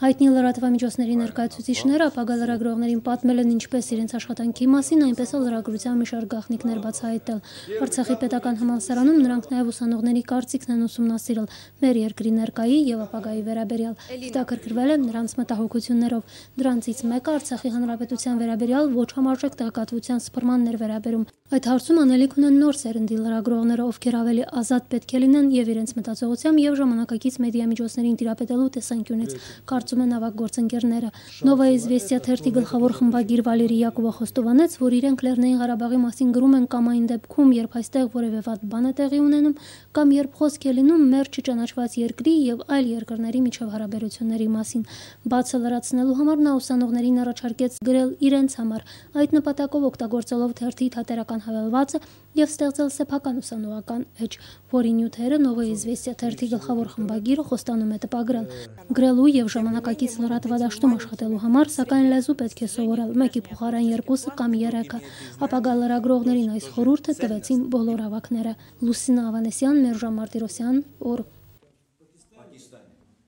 Հայտնի լրատվամիջոցների ներկայացուցիչները ապագա լրագրողներին պատմել են ինչպես իրենց աշխատանքի մասին, այնպես էլ լրագրության մի շարք գաղտնիքներ բացահայտել։ Արցախի պետական համալսարանում նրանք նաև ուսանողների կարծիքն են ուսումնասիրել մեր երկրի ներկայի եւ ապագայի վերաբերյալ։ Հետաքրքրվել են նրանց մտահոգություններով։ Դրանցից մեկը Արցախի հանրապետության վերաբերյալ ոչ համարժեք տեղեկատվության սփռմանն էր վերաբերում։ Այդ հարցում անելիք ունեն նոր սերնդի լրագրողները, ովքեր ավելի ազատ պետք է լինեն եւ իրենց մտածողությամբ եւ ժամանակակից մեդիա միջոցներին տիրապետելու տեսանկյունից, կարծում են ավագ գործընկերները։ Նովայի Զվեստիա թերթի գլխավոր խմբագիր Վալերի Յակոբը խոստովանեց, որ իրենք Լեռնային Ղարաբաղի մասին գրում են կամ այն դեպքում, երբ այստեղ որևէ վատ բան է տեղի ունենում, կամ երբ խոսք է լինում մեր չճանաչված երկրի եւ այլ երկրների միջև հարաբերությունների մասին։ Բացը լրացնելու համար նա ուսանողներին առաջարկեց գրել իրենց համար, այդ նպատակով օգտագործելով թերթի թատերական հավելվածը եւ ստեղծել սեփական ուսանողական էջ, որի նյութերը Նովայի Զվեստիա թերթի գլխավոր խմբագիրը խոստանում է տպագրել։ Գրելու եւ ժամանակակից լրատվադաշտում աշխատելու համար, սակայն լեզու պետք է սովորել, մեկի փոխարեն երկուսը կամ երեքը։ Ապագա լրագրողներին այս խորհուրդը տվեցին բոլոր ավակները։ Լուսինա Ավանեսյան, Մերժան Մարտիրոսյան, օր